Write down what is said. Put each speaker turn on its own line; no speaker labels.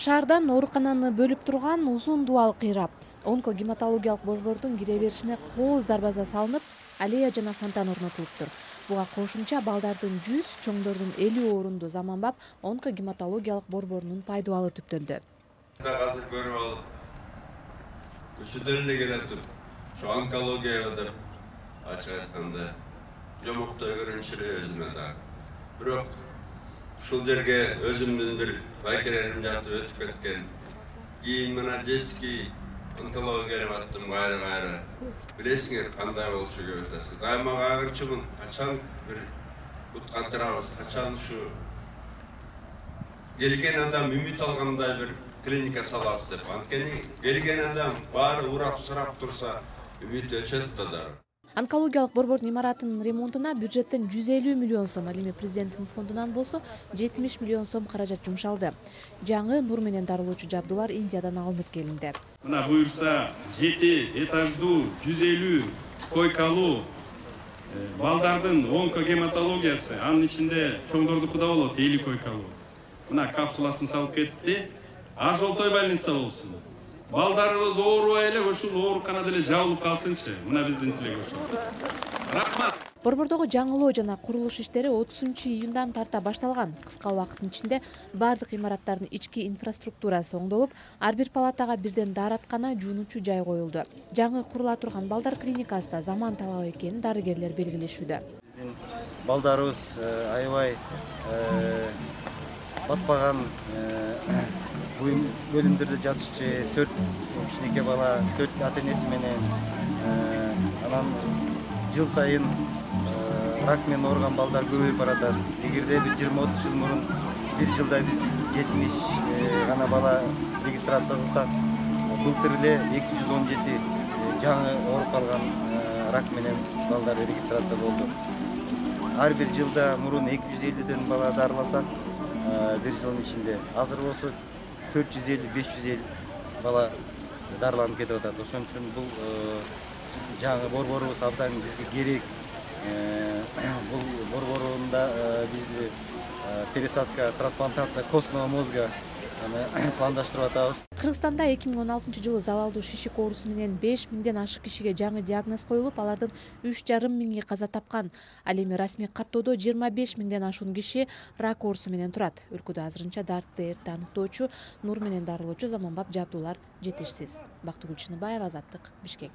Шаардан оорукананы бөлүп турган узун дубал кыйрап, онкогематологиялык борбордун кире беришине кооз дарбаза салынып, аллея жана фонтан орнотулуптур. Буга кошумча балдардын 100, чоңдордун 50 орунду заманбап онкогематологиялык борборунун пайдубалы түптөлдү.
Азыр көрүп алып, көчөдөн эле келатып, ошо онкология деп ачык айтканда жомоктой көрүнүш эле өзүмө да. Бирок ушул жерге өзүмдүн бир байкелерим жатып өтүп кеткен. Кийин мына детский онкология деп аттым кайра. Билесиңер кандай болчу көбүтасы. Дайыма кайгырчумун. Качан бир бут кантырабыз, качан ушу келген адам үмүт алгандай бир клиника салабыз деп. Анткени келген адам баары урап-сурап турса, үмүт өчөт да.
Онкологиялык борбордун имаратынын ремонтуна бюджеттен 150 миллион сом, ал эми президенттин фондунан болсо 70 миллион сом каражат жумшалды. Жаңы нур менен дарылоочу жабдуулар Индиядан алынып келинди.
Мына буюрса 7 этаждуу 150 койкалуу балдардын онкогематологиясы, анын ичинде чоңдордуку да болот 50 койкалуу. Мына капсуласын салып кетти. Ажолтой больница болсун. Балдарыбыз оорубай эле ушул ооруканада эле жабылып калсынчы. Мына биздин тилек ошол. Рахмат.
Борбордогу жаңылоо жана курулуш иштери 30-июндан тарта башталган. Кыска убакыттын ичинде бардык имараттардын ички инфраструктурасы оңдолуп, ар бир палатага бирден daarаткана, жуунуучу жай коюлду. Жаңы курула турган балдар клиникасы да заман талабы экенин дарыгерлер белгилешүүдө.
Биздин балдарыбыз аябай батпаган бөлүмдөрдө жатышчы, 4 кичинекей бала, 4 ата-энеси менен, анан жыл сайын рак менен ооруган балдар көбөйүп баратат. Эгерде бир 20-30 жыл мурун бир жылда биз 70 гана бала регистрация кылсак, былтыр эле 217 жаңы ооруп калган рак менен балдар регистрация болду. Ар бир жылда мурун 250ден бала дарыласак, бир жылдын ичинде азыр болсо 450-550 бала дарыланып кетип атат. Ошон үчүн бул жаңы борборубуз абдан бизге керек. Бул борборунда биз пересадка, трансплантация костного мозга пландаштырып атабыз.
Кыргызстанда 2016-жылы залалдуу шишик оорусу менен 5000ден ашык кишиге жаңы диагноз коюлуп, алардын 3,5 миңи каза тапкан. Ал эми расмий каттоодо 25 миңден ашуун киши рак оорусу менен турат. Өлкөдө азырынча дартты эрте аныктоочу, нур менен дарылоочу заманбап жабдуулар жетишсиз. Бактыгүл Чыныбаева, Азаттык, Бишкек.